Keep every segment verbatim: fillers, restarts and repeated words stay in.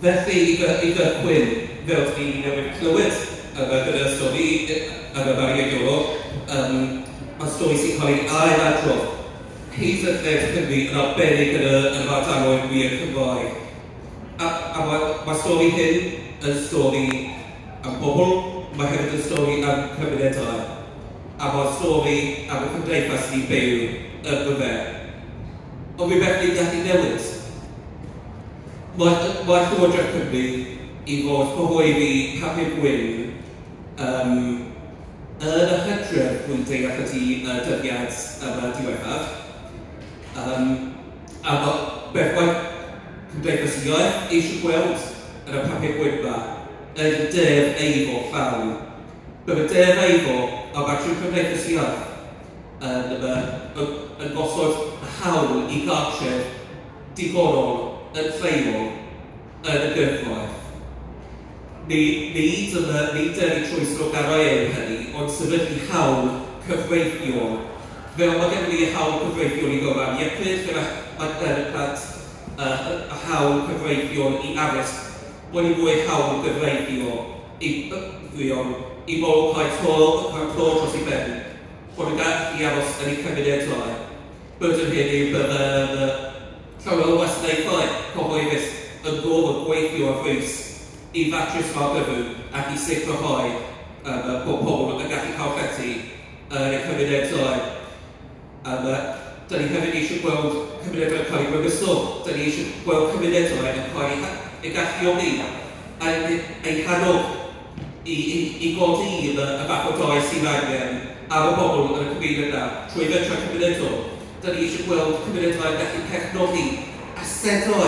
Felly, i gychwyn, fel ni newydd clywed yma gyda stori yma Mari a Iolo, um, mae stori sy'n cael ei ailadrodd hyd yn led Cymru yn arbennig yn y, yn yr ardaloedd mwyaf Cymraeg. A, a mae, mae stori hyn yn stori am bobl, mae hefyd yn stori am cymunedau. A mae'r stori am y cymdeithas ni'n byw ynddo fe. Ond rhywbeth ni'n gallu newid. Mae, mae Llywodraeth Cymru i fod cyhoeddi papur gwyn um, yn y hydref, dwi'n deall ydy y dyddiad yma diwethaf. Um, a ma, beth mae Cymdeithas yr Iaith eisiau gweld yn y papur gwyn yma ydy Deddf Eiddo llawn. Bydd y Deddf Eiddo a mae trwy Cymdeithas yr Iaith yn, yn, yn, yn gosod hawl i gartref digonol yn lleol yn y gyfraith. Ni, nid yn y, nid yn trwy sloganau yw hynny, ond sefydlu hawl cyfreithiol. Fel mae gennym ni hawl cyfreithiol i gofal iechyd, fel mae gen y plant uh, y hawl cyfreithiol i addysg, bod ni mwy hawl gyfreithiol i, uh, i bobl cael to, cael to dros ei ben, bod yn gallu aros yn eu cymunedau. Bod yn hyn yw bydd y llawer o wasanaethau cyhoeddus yn gorfod gweithio ar frys i ddatrys yr argyfwng ac i sicrhau um, bod pobl yn gallu cael llety yn eu cymunedau. Um, da ni hefyd eisiau gweld cymunedau yn cael eu grymuso. Da ni eisiau gweld cymunedau yn cael eu, eu galluogi a eu hannog i, i, i godi y, y fath o dai sydd angen ar y bobl yn y cymuned yna trwy fentrau cymunedol. Da ni eisiau gweld cymunedau yn gallu cefnogi asedau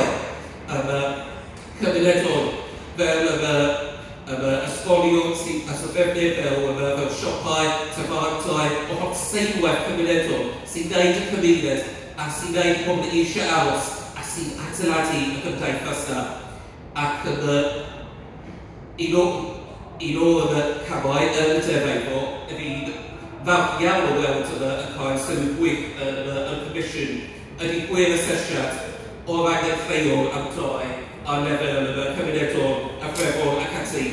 um, cymunedol fel y, y, ysgolion sy'n asoddefnydd, fel, y, fel siopau, tafarndai, o holl seilwaith cymunedol sy'n gwneud y cymuned a sy'n gwneud pobl eisiau aros a sy'n adeiladu y gymdeithas yna. Ac yn y, un o, un o y camau yn y Deddf Eiddo, fi'n falch iawn o weld yma yn cael sylw gwych yn y, yn y Comisiwn, ydy gwir asesiad o'r angen lleol am dai ar lefel yn y cymunedol a threfol ac ati.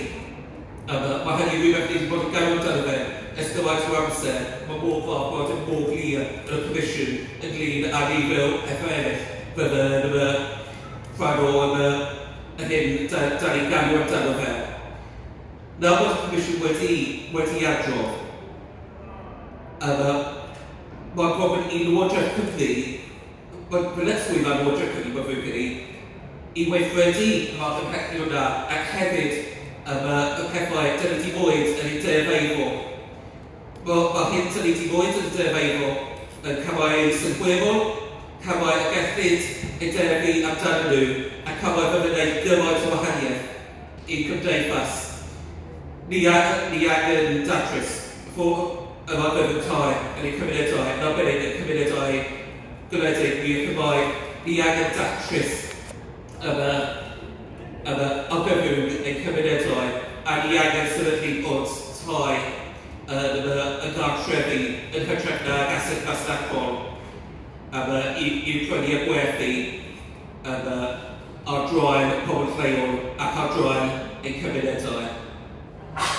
Um, mae hynny rhywbeth ni wedi bod yn galw amdano fe ers gymaint o amser. Mae mor falch bod yn mor glir yn y Comisiwn ynglyn â ni fel pethau eraill bydde yn y rhan o yn y, y hyn da, da ni'n galw amdano fe. Nawr bod y Comisiwn wedi, wedi adrodd, um, mae gofyn i Lywodraeth Cymru, mae ddyletswydd ar Lywodraeth Cymru, mae fwy credu, i weithredu y math o pethau yna ac hefyd um, y pethau dyn ni wedi bod yn ei Deddf Eiddo. Mae, mae hyn dyn ni wedi bod yn y Deddf Eiddo yn camau synhwyrol, camau y gellid eu deddfu amdanyn nhw, a camau fydd yn gwneud gymaint o wahaniaeth i'n cymdeithas. Ni, ni angen datrys yr argyfwng tai yn ein cymunedau, yn arbennig yn cymunedau gwledig mwy Cymraeg. Ni angen datrys y y argyfwng ein cymunedau, a ni angen sefydlu bod tai yn y, y gartrefi yn hytrach nag ased masnachol um, i, i'w prynu a gwerthu um, ar draul pobl lleol ac ar draul ein cymunedau.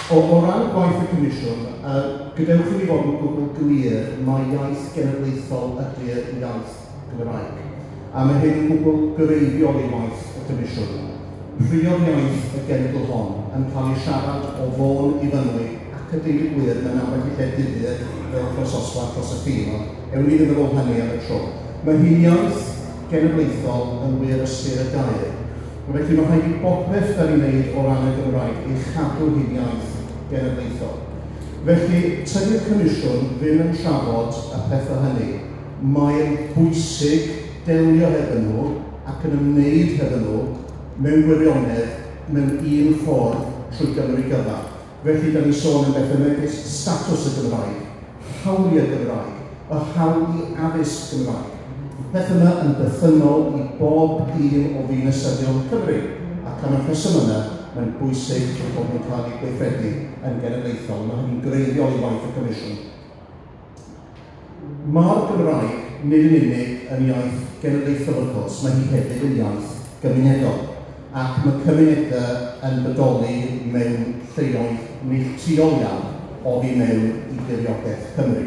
O, o ran gwaith y Comisiwn, uh, gadewch i ni fod yn gwbl glir mai iaith genedlaethol ydy'r iaith Gymraeg. A mae hyn yn gwbl greiddiol i waith y Comisiwn. Priod iaith y genedl hon yn cael ei siarad o Fôn i Fynwy ac a deud y gwir mewn ambell i lle difyr fel Croesoswallt dros y ffin, ond ewn ni ddim ar ôl hynny am y tro. Mae hi'n iaith genedlaethol yn wir ystyr y gair. Felly mae rhaid i bopeth da ni'n wneud o ran y Gymraeg ei chadw hi'n iaith genedlaethol. Felly, tydi'r Comisiwn ddim yn trafod y pethau hynny. Mae'n bwysig delio hefo nhw ac yn ymwneud hefo nhw mewn gwirionedd mewn un ffordd trwy Gymru gyfa. Felly, da ni'n sôn am bethau megis statws y Gymraeg, hawliau Gymraeg, y hawl i addysg Gymraeg. Peth yma yn berthynol i bob un o ddinasyddion Cymru, ac am y rheswm yna, mae'n bwysig eu bod nhw'n cael eu gweithredu yn genedlaethol. Mae hynny'n greiddiol i waith y Comisiwn. Mae'r Gymraeg nid yn unig yn iaith genedlaethol, wrth gwrs, mae hi hefyd yn iaith gymunedol. Ac mae cymunedau yn bodoli mewn lleoedd neilltuol iawn oddi mewn i diriogaeth Cymru.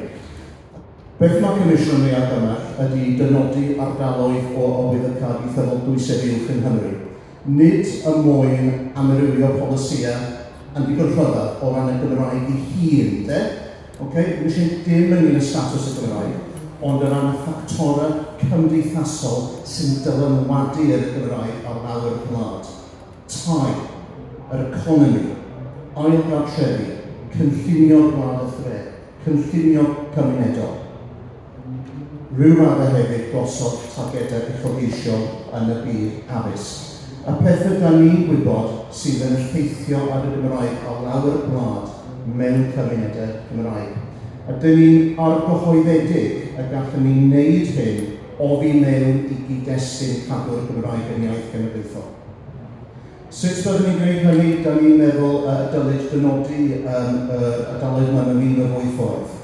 Beth mae Comisiwn yn ei argymell ydy dynodi ardaloedd o arwyddocâd ieithyddol dwysedd uwch yng Nghymru. Nid y mwyn amrywio polisïau yn ddigon rhyfedd o ran y Gymraeg ei hun, de? Okay? Ddim eisiau dim ynglyn â statws y Gymraeg, ond o ran y ffactorau cymdeithasol sy'n dylanwadu ar y Gymraeg ar lawr y gwlad. Tai, yr economi, ailgartrefi, cynllunio gwlad a thre, cynllunio cymunedol. Rhyw raddau hefyd gosod targedau uchelgeisiol yn y byd addysg. Y pethau da ni'n gwybod sydd yn effeithio ar y Gymraeg ar lawr y gwlad mewn cymunedau Cymraeg. A dyn ni'n argyhoeddedig y gallwn ni wneud hyn oddi mewn i gyd-destun cadw'r Gymraeg yn iaith genedlaethol. Sut byddwn ni'n gwneud hynny? Da ni'n meddwl uh, dylid dynodi um, yr ardaloedd yma mewn un o'r ddwy ffordd.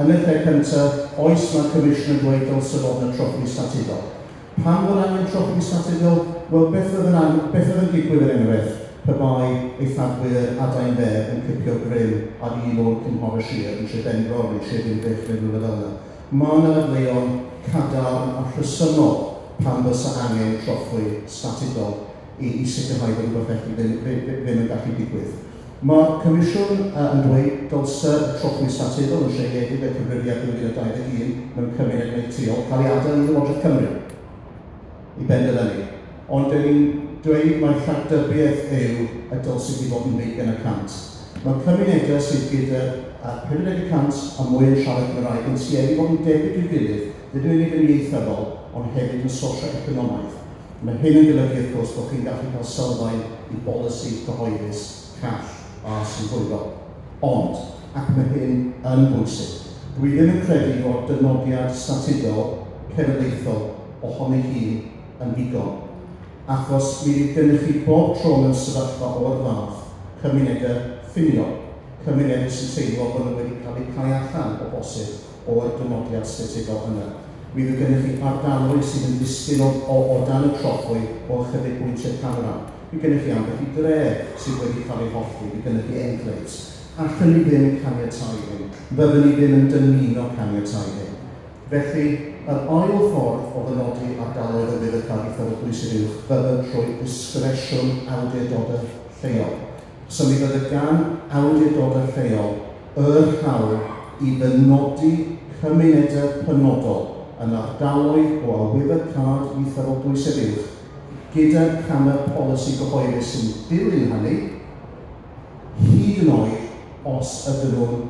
Yn y lle cyntaf, oes mae'r Comisiwn yn dweud dylse fod yna trothwy statudol. Pam fod angen trothwy statudol? Wel, beth fydd yn, an- beth fydd yn digwydd er enghraifft pe bai eithafwyr adain dde yn cipio grym ar un o'r cynghorau sir yn Sir Benfro neu Sir Ddinbych neu rhywle fel yna. Mae yna ddadleuon cadarn a rhesymol pam fysa angen trothwy statudol i, i sicrhau bod rhywbeth felly ddim, ddim, ddim yn gallu digwydd. Mae'r Comisiwn uh, yn dweud dylse y trothwy statudol yn seiliedig ar cyfrifiad dwy fil a dau ddeg un mewn cymuned neilltuol cael ei adael i Lywodraeth Cymru i benderfynu. Ond dyn ni'n dweud mai rhagdybiaeth yw y dylse hi fod yn ddeugain y cant. Mae cymunedau sydd gyda pum deg y cant a mwy yn siarad Cymraeg yn tueddu fod yn debyg i'w gilydd, nid yn unig yn ieithyddol, ond hefyd yn socio-economaidd. Mae hyn yn golygu, wrth gwrs, bod chi'n gallu cael sylfaen i bolisi cyhoeddus call a synhwyrol. Ond, ac mae hyn yn bwysig, dwi ddim yn credu fod dynodiad statudol cenedlaethol ohoni hun yn ddigon. Achos mi fydd gennych chi bob tro mewn sefyllfa o'r fath cymunedau ffiniol, cymunedau sy'n teimlo bod nhw wedi cael eu cau allan o bosib o'r dynodiad statudol yna. Mi fydd gennych chi ardaloedd sydd yn disgyn o, o, o dan y trothwy o ychydig bwyntiau canran. Mi gennych chi ambell i dre sydd wedi cael ei hollti, mi gennych chi enclaves. Allwn ni ddim caniatáu hyn. Fyddwn ni ddim yn dymuno caniatáu hyn. Felly, yr ail ffordd o ddynodi ardaloedd o arwyddocâd ieithyddol dwysedd uwch fydde trwy disgresiwn awdurdodau lleol. So mi fydde gan awdurdodau lleol yr hawl i ddynodi cymunedau penodol yn ardaloedd o arwyddocâd ieithyddol dwysedd uwch gyda camau polisi gyhoeddus sy'n dilyn hynny, hyd yn oed os ydyn nhw'n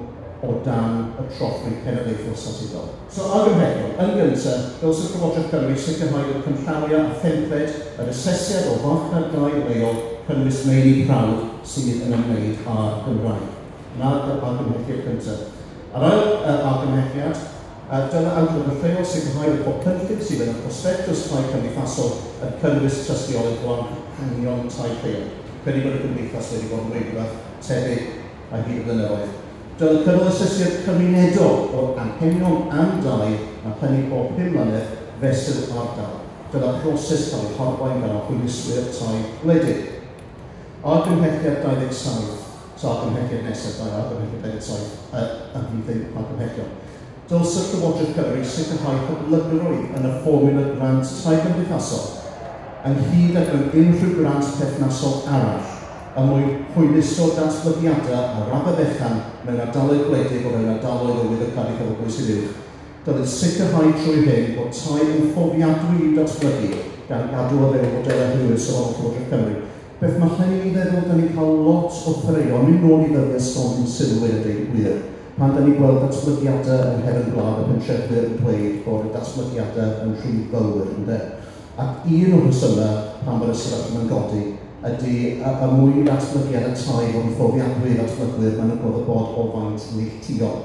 o dan y trothwy cenedlaethol statudol. So argymhellion, yn gyntaf, dylse Llywodraeth Cymru sicrhau bod cynllawiau a thempled yr asesiad o farchnad dai leol cynnwys meini prawf sydd yn ymwneud â'r Gymraeg. Na'r argymhelliad cyntaf. Yr ail argymhelliad, dylai awdurdod lleol sicrhau bod pob cynllun sydd yn y prospectus tai cymdeithasol yn cynnwys tystiolaeth o anghenion tai lleol. Credu bod y gymdeithas wedi bod yn dweud rhywbeth tebyg ar hyd y blynyddoedd. Dylai cynnal asesiad cymunedol o'r anghenion am dai a hynny bob pum mlynedd fesul ardal. Dylai proses cael ei harwain gan hwyluswyr tai gwledig. Argymhelliad dau ddeg saith, so argymhelliad nesaf, dau argymhelliad dau ddeg saith, ymhlith ein argymhellion. Dylse Llywodraeth Cymru sicrhau hyblygrwydd yn y fformiwla grant tai cymdeithasol, ynghyd ag mewn unrhyw grant perthnasol arall, er mwyn hwyluso datblygiadau ar raddfa fechan mewn ardaloedd gwledig o fewn ardaloedd o arwyddocâd ieithyddol dwysedd uwch. Dylid sicrhau trwy hyn bod tai yn fforddiadwy i'w datblygu gan gadw o fewn modelau hwyr safonol Llywodraeth Cymru. Beth mae hynny'n ei feddwl, da ni'n cael lot o ffraeon, mynd nôl i ddyddiau stondin Silwyn a deud y gwir. Pan da ni'n gweld datblygiadau yng nghefn gwlad y pentrefwyr yn dweud bod y datblygiadau yn rhy fawr, ynde? Ac un o'r rhesymau pan bod y sefyllfa yn godi ydy y mwy datblygiad y tai fod yn fforddiadwy i ddatblygwyr, maen nhw'n gorfod bod o faint neilltuol.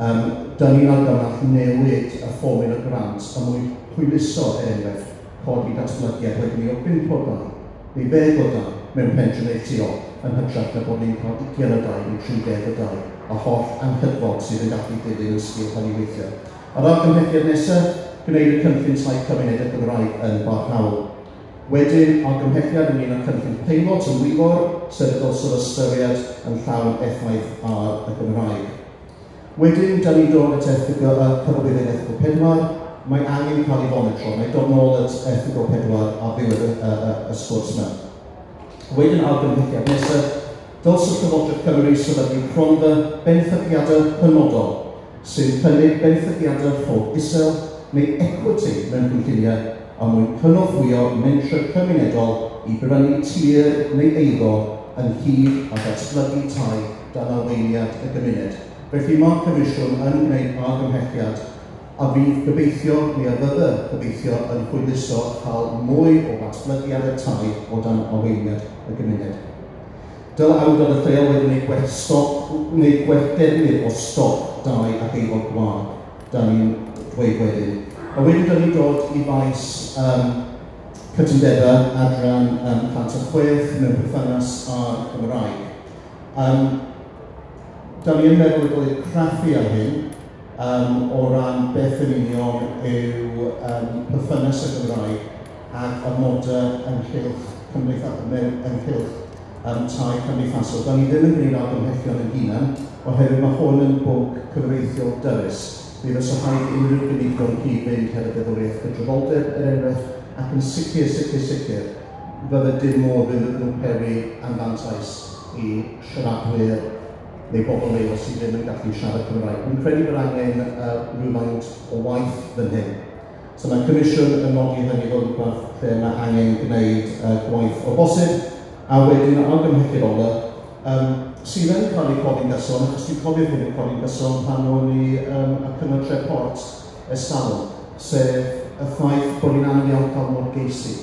Um, da ni'n argymell newid y fformiwla grant y mwy hwyluso, er enghraifft, codi datblygiad wedyn ni o bump o dai neu ddeg o dai mewn pentre neilltuol yn hytrach na bod ni'n cael ugain o dai neu tri deg o dai a holl anghydfod sydd yn gallu dilyn yn sgil hynny weithiau. Yr argymhelliad nesaf, gwneud y cynllun tai cymunedau Gymraeg yn barhaol. Wedyn, argymhelliad ynglyn â cynllun peilot yn Wyfor, sef y dylswn ystyried yn llawn effaith ar y Gymraeg. Wedyn, da ni'n dod at erthygl, uh, cyfarwyddyd erthygl pedwar, mae angen cael ei fonitro. Mae dod nôl at erthygl pedwar ar ddiwedd y, y, y, y sgwrs yma. Wedyn, argymhelliad nesaf, dylse Llywodraeth Cymru sefydlu cronfa benthyciadau penodol sy'n cynnig benthyciadau llog isel neu equity mewn cynlluniau a mwyn cynorthwyo mentrau cymunedol i brynu tir neu eiddo ynghyd â datblygu tai dan arweiniad y gymuned. Felly mae'r Comisiwn yn gwneud argymhelliad a fydd gobeithio, neu a fydde gobeithio, yn hwyluso cael mwy o ddatblygiadau tai o dan arweiniad y gymuned. Dylai awdurdod lleol wedi gwneud gwell stoc, wneud gwell defnydd o stoc dai ac eiddo gwag, da ni'n dweud wedyn. A wedyn da ni'n dod i faes um, cytundebau adran um, cant a chwech mewn perthynas â'r Gymraeg. Um, da ni yn meddwl y dylid craffu ar hyn um, o ran beth yn union yw um, perthynas y Gymraeg ac amodau ynghylch cymdeitha, ynghylch um, tai cymdeithasol. Da ni ddim yn gwneud argymhellion yn hunan, oherwydd mae hwn yn bwnc cyfreithiol dyrys. Mi fysa rhaid unrhyw gynigion cyd-fynd hefo deddfwriaeth cydraddoldeb, er enghraifft, ac yn sicr, sicr, sicr, fydde dim modd iddyn nhw peri anfantais i siaradwyr neu bobl leol sydd ddim yn gallu siarad Cymraeg. Dwi'n credu bod angen uh, rhywfaint o waith fan hyn. So mae'r Comisiwn yn nodi hynny fel rhywbeth lle mae angen gwneud uh, gwaith o bosib, a wedyn argymhelliad ola, um, sydd yn cael ei codi'n gyson, achos dwi'n cofio hyn yn codi'n gyson pan o'n i um, y Cyngor Tref Port ers talwm, sef y ffaith bod ni'n anodd iawn cael morgeisi.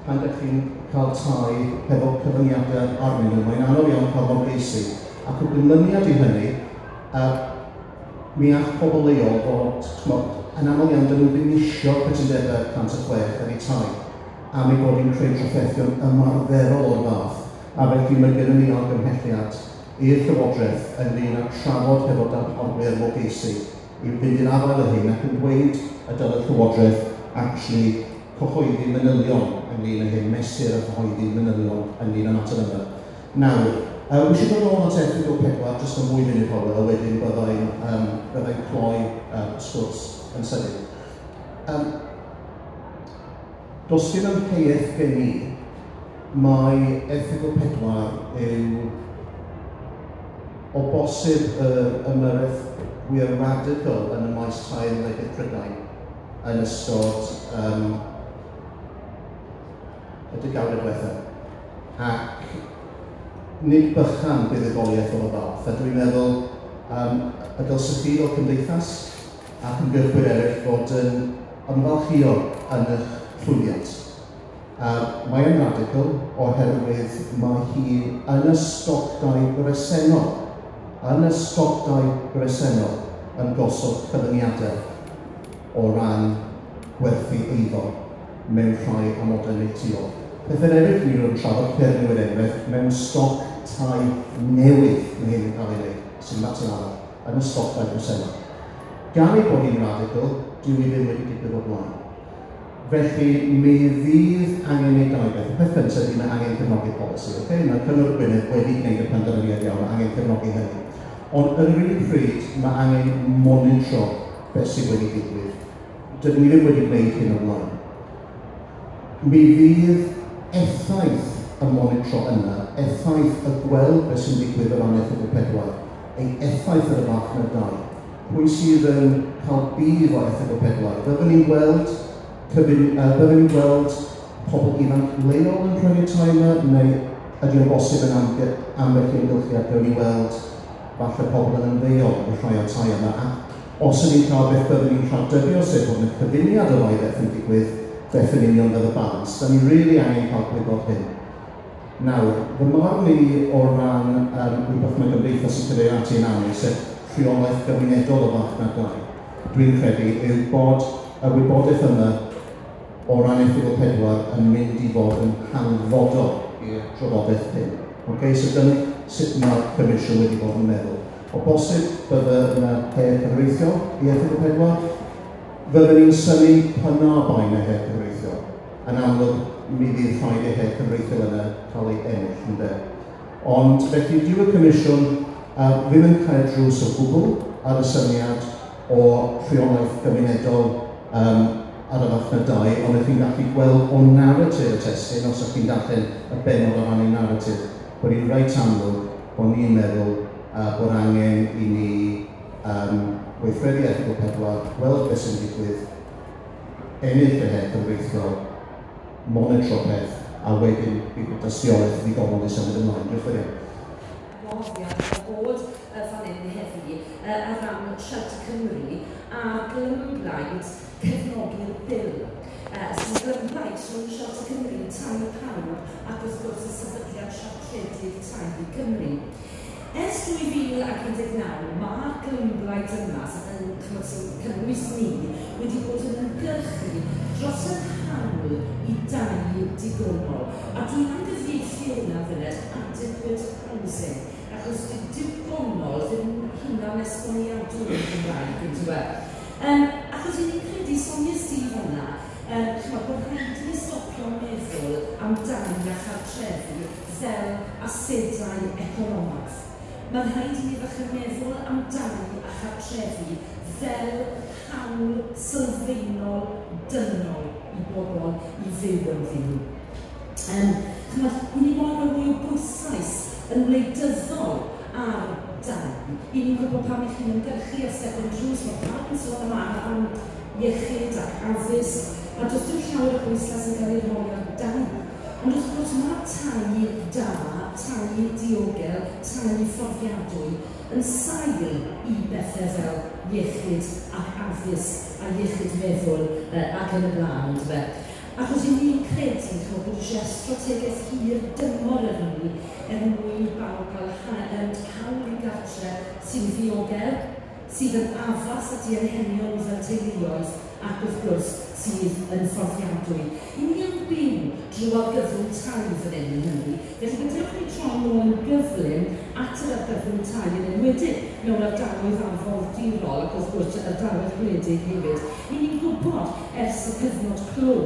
Pan ydych chi'n cael tai hefo cyfyngiadau arnyn nhw, mae'n anodd iawn cael morgeisi. Ac o ganlyniad i hynny, uh, mi all pobl leol fod, t'mod, yn aml iawn, dyn nhw ddim isio cytundebau cant a chwech ar eu tai, am ei bod hi'n creu trafferthion ymarferol o'r fath. A felly mae gennym ni argymhelliad i'r Llywodraeth ynglyn â trafod hefo darparwyr morgeisi i fynd i'r afael â hyn ac yn dweud y dylai'r Llywodraeth actually cyhoeddi manylion ynglyn â hyn, mesur a chyhoeddi manylion ynglyn â mater yma. Nawr, uh, wi eisiau dod nôl at erthygl pedwar, jyst am ddwy funud Hywel, a wedyn byddai'n um, byddai'n cloi um, sgwrs yn sydyn. Um, does dim amheuaeth gen i, mae erthygl pedwar yw o bosib yr ymyrraeth fwyaf radical yn y maes tai yn wledydd Prydain yn ystod um, y degawdau diwethaf. Ac nid bychan buddugoliaeth o'r fath, a dwi'n meddwl um, y dylsech chi fel cymdeithas ac ymgyrchwyr eraill fod yn ymfalchïo yn eich llwyddiant. Uh, mae yn radical oherwydd mae hi yn y stoc dai bresennol, yn y stoc dai bresennol yn gosod cyfyngiadau o ran gwerthu eiddo mewn rhai amodau neilltuol. Pethau eraill ni wedi trafod Cernyw er enghraifft, mewn stoc tai newydd mae hyn yn cael ei wneud, sy'n mater arall, yn y stoc dai bresennol. Gan ei bod hi'n radical, dyw hi ddim wedi digwydd o'r blaen. Felly, mi fydd angen ei dau beth. Y peth cyntaf ydy mae angen cefnogi polisi. Okay? Mae Cyngor Gwynedd wedi gwneud y penderfyniad iawn, mae angen cefnogi hynny. Ond yn yr un pryd, mae angen monitro beth sydd wedi digwydd. Dydyn ni ddim wedi gwneud hyn o'r blaen. Mi fydd effaith y monitro yna, effaith y gweld beth sy'n digwydd o ran erthygl pedwar, ei effaith ar y farchnad dai. Pwy sydd yn cael budd o erthygl pedwar? Byddwn ni'n gweld cyfun, uh, byddwn ni'n gweld pobl ifanc leol yn prynu tai yma, neu ydy o'n bosib yn ambell i amgylchiad gawn ni weld falle pobl yn ymddeol yn rhai o'r tai yma. Ac os ydyn ni'n cael beth byddwn ni'n rhagdybio, sef bod yna cyfuniad o ddau beth yn digwydd, beth yn union fydd y balans. Da ni rili angen cael gwybod hyn. Nawr, fy marn i o ran um, rhywbeth mae gymdeithas yn cyfeirio ati yn aml, sef rheolaeth gymunedol o farchnad dai, dwi'n credu yw bod y wybodaeth yma o ran erthygl pedwar yn mynd i fod yn hanfodol i'r trafodaeth hyn. Okay, so dyna sut mae'r Comisiwn wedi bod yn meddwl. O bosib, bydde yna her cyfreithiol i erthygl pedwar. Fydden ni'n synnu pan na bai yna her cyfreithiol. Yn amlwg, mi fydd rhaid i'r her cyfreithiol yna cael ei ennill, ynde. Ond felly, dyw y Comisiwn uh, ddim yn cael drws o gwbl ar y syniad o rheolaeth gymunedol um, ar y farchnad dai, ond ydych chi'n gallu gweld o naratif y testun, os ydych chi'n darllen y bennod o ran ei naratif, bod hi'n reit amlwg bod ni'n meddwl uh, bod angen i ni um, weithredu erthygl pedwar, gweld beth sy'n digwydd, ennill y her cyfreithiol, monitro peth, a wedyn bydd y dystiolaeth ddigonol i symud ymlaen. Diolch yn fawr. Gwahoddiad o bod fan hyn heddi ar ran Shelter Cymru a glymblaid cefnogi'r bil. Sy'n glymblaid rhwng Shelter Cymru, Tai Pawb ac wrth gwrs y Sefydliad Siartredig Tai Cymru. Ers dwy fil ac un deg naw, mae'r glymblaid yma, sy'n cynnwys ni, wedi bod yn ymgyrchu dros yr hawl i dai digonol. A dwi'n am gyfieithu hwnna funud, adequate housing, achos dyw digonol ddim hunan esboniadwy yn Gymraeg, yn dyw e. Um, achos i ni'n credu, Sonia Steve hwnna, um, chymod, bod rhaid i ni stopio meddwl am dai a chartrefi fel asedau economaidd. Mae'n rhaid i ni ddechrau meddwl am dai a chartrefi fel hawl sylfaenol dynol i bobl i fyw ynddyn nhw. Um, chymod, i ni moyn rhoi mwy o bwyslais yn wleidyddol ar dai. I ni'n gwybod pam i chi'n ymgyrchu ar Step yn Drws, mae pawb yn sôn am, am iechyd ac addysg, a does dim llawer o bwyslais yn cael ei rhoi ar dai. Ond wrth gwrs mae tai da, tai diogel, tai fforddiadwy yn sail i bethau fel iechyd ac addysg a iechyd meddwl ac yn y blaen, yndyfe. Achos i ni'n credu chymod, bod eisiau strategaeth hir dymor ar hynny er mwyn i bawb gael hawl i gartre sy'n ddiogel, sydd yn addas at eu anghenion fel teuluoedd ac wrth gwrs sydd yn fforddiadwy. I ni yn byw drwy argyfwng tai fan hyn yng Nghymru, felly gadewch ni troi nôl yn gyflym at yr argyfwng tai yn enwedig mewn ardaloedd arfordirol ac wrth gwrs ardaloedd gwledig hefyd. I ni'n gwybod ers y cyfnod clo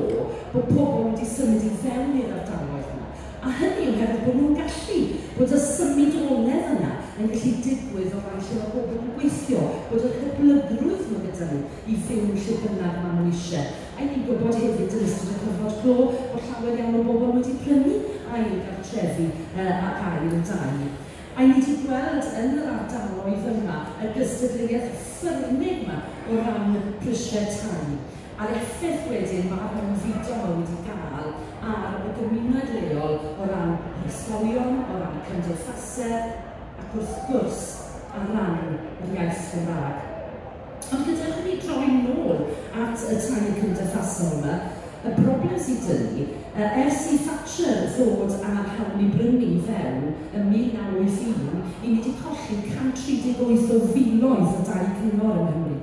bod pobl wedi symud i fewn i'r ardaloedd yma. A hynny oherwydd bod nhw'n gallu, bod y symudoledd yna yn gallu digwydd o ran lle mae pobl yn gweithio, bod yr hyblygrwydd nhw gyda nhw i fyw lle bynnag maen nhw eisiau. A ni'n gwybod hefyd yn ystod y cyfnod clo bod llawer iawn o bobl wedi prynu ail gartrefi uh, ac ail dai. A ni wedi gweld yn yr ardaloedd yma y gystadleuaeth ffyrnig yma o ran prisiau tai. A'r effaith wedyn mae'r mewnfudo yma wedi gael ar y gymuned leol o ran ysgolion, o ran cymdeithasau, ac wrth gwrs ar ran yr iaith Gymraeg. Ond gadewch i ni droi nôl at y tai cymdeithasol yma, y broblem sydd 'da ni, ers i Thatcher ddod â'r hawl i brynu fewn ym mil naw wyth un, i ni wedi colli cant tri deg wyth o filoedd o dai cyngor yng Nghymru.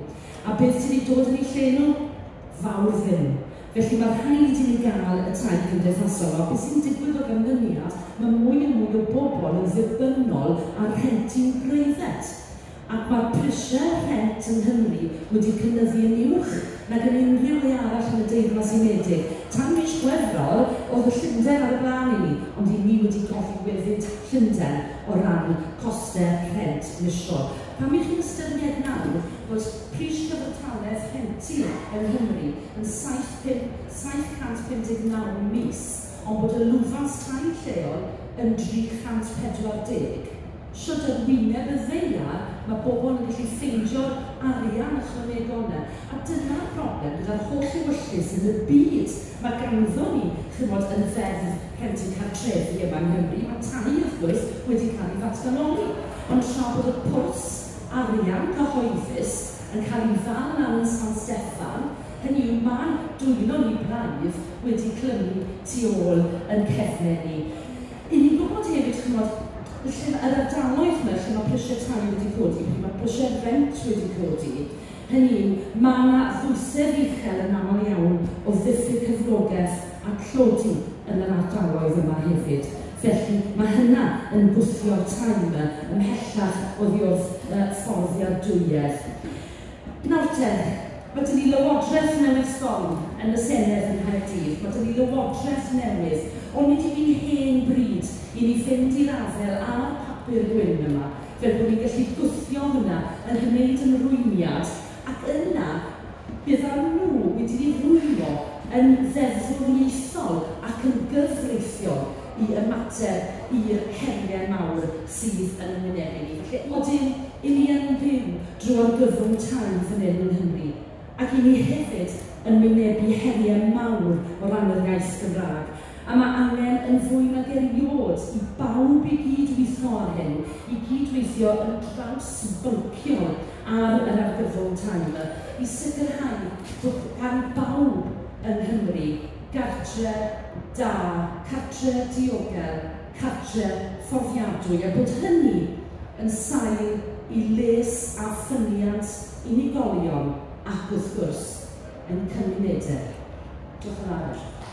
A beth sydd wedi dod yn ei lle nhw? Fawr ddim. Felly mae rhaid i ni gael y tai cymdeithasol. A beth sy'n digwydd o ganlyniad, mae mwy a mwy o bobl yn ddibynnol ar rhentu'n breifat. Ac mae'r prisiau rhent yng Nghymru wedi cynyddu yn uwch nag yn unrhyw le arall yn y Deyrnas Unedig. Tan mis Chwefror, oedd y Llundain ar y blaen i ni, ond i ni wedi gorwefyd Llundain o ran costau rhent misol. Pam i chi'n ystyried nawr bod pris cyfartaledd rhentu yng Nghymru yn saith cant pum deg naw mis, ond bod y lwfans tai lleol yn dri chant pedwar deg. Siwt ar wyneb y ddaear, mae bobl yn gallu ffeindio'r arian ychwanegol yna. A dyna'r broblem gyda'r holl ewyllys yn y byd. Mae ganddo ni, chymod, yn y ddeddf rhentu cartrefi yma yng Nghymru, mae tai wrth gwrs wedi cael ei ddatganoli. Ond tra bod y pwrs arian cyhoeddus yn cael ei ddal lan yn San Steffan, hynny yw mae'n dwylo ni braidd wedi clymu tu ôl yn cefnau ni. I ni'n gwybod hefyd, chymod, lle yr ardaloedd yma lle mae prisiau tai wedi codi, lle mae prisiau rent wedi codi, hynny yw, mae yna ddwysedd uchel yn aml iawn o ddiffyg cyflogaeth a tlodi yn yr ardaloedd yma hefyd. Felly mae hynna yn gwthio'r tai yma ymhellach oddi wrth uh, fforddiadwyedd. Nawr te, Mae dyn ni lywodraeth newydd sbon yn y Senedd yng Nghaerdydd. Mae dyn ni lywodraeth newydd, ond nid yw'n hen bryd i ni fynd i'r afael â'r papur gwyn yma, fel bod ni'n gallu gwthio hwnna yn gwneud ymrwymiad, ac yna byddan nhw wedi'u rwymo yn ddeddfwriaethol ac yn gyfreithiol i ymateb i'r heriau mawr sydd yn wynebu ni. Felly, odyn, i ni yn byw drwy argyfwng tai fan hyn yng Nghymru, ac i ni hefyd yn wynebu heriau mawr o ran yr iaith Gymraeg. A mae angen yn fwy nag erioed i bawb i gydweithio ar hyn, i gydweithio yn trawsbynciol ar yr argyfwng tai yma, i sicrhau bod gan bawb yng Nghymru gartre da, cartre diogel, cartre fforddiadwy, a bod hynny yn sail i les a ffyniant unigolion ac wrth gwrs yn cymunedau. Diolch yn fawr.